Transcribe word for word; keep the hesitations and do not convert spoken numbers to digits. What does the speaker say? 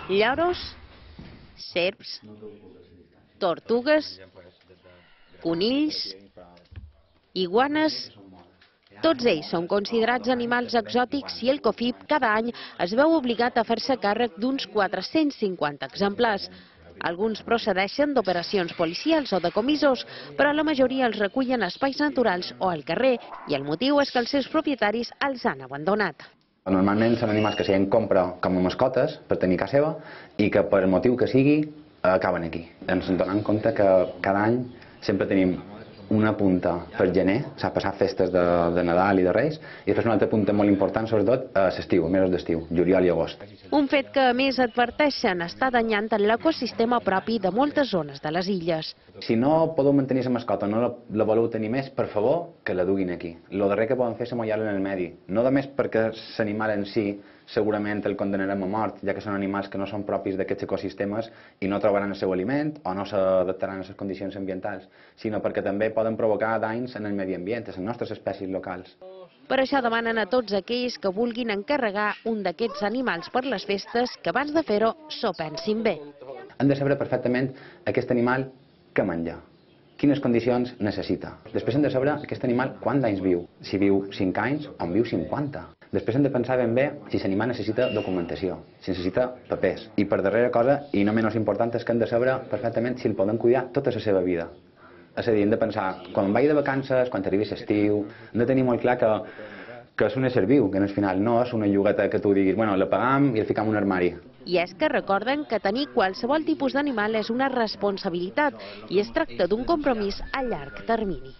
lloros, serps, tortugues, conills, iguanes. Tots ells són considerats animals exòtics i el COFIP cada any es veu obligat a fer-se càrrec d'uns quatre-cents cinquanta exemplars. Alguns procedeixen d'operacions policials o de comissos, però la majoria els recullen a espais naturals o al carrer, i el motiu és que els seus propietaris els han abandonat. Normalment són animals que se'n compra com a mascotes per tenir a casa seva i que per motiu que sigui acaben aquí. Ens donem compte que cada any sempre tenim una punta per gener, s'ha passat festes de, de Nadal i de Reis, i després una altra punta molt important, sobretot a l'estiu, mesos d'estiu, juliol i agost. Un fet que, a més, adverteixen està danyant l'ecosistema propi de moltes zones de les illes. Si no podeu mantenir la mascota, no la, la voleu tenir més, per favor, que la duguin aquí. El darrer que poden fer és amollar-la en el medi. No només perquè l'animal en si segurament el condenarem a mort, ja que són animals que no són propis d'aquests ecosistemes i no trobaran el seu aliment o no s'adaptaran a les condicions ambientals, sinó perquè també poden provocar danys en el medi ambient, a les nostres espècies locals. Per això demanen a tots aquells que vulguin encarregar un d'aquests animals per les festes que abans de fer-ho s'ho pensin bé. Han de saber perfectament aquest animal què menja, quines condicions necessita. Després hem de saber aquest animal quants anys viu, si viu cinc anys o en viu cinquanta. Després hem de pensar ben bé si l'animal necessita documentació, si necessita papers. I per darrera cosa, i no menys important, és que hem de saber perfectament si el poden cuidar tota la seva vida. És a dir, hem de pensar, quan vagi de vacances, quan arribi l'estiu, hem de tenir molt clar que, que és un ésser viu, que al final no és una llogueta que tu diguis, bueno, la pagam i el ficam en un armari. I és que recorden que tenir qualsevol tipus d'animal és una responsabilitat i es tracta d'un compromís a llarg termini.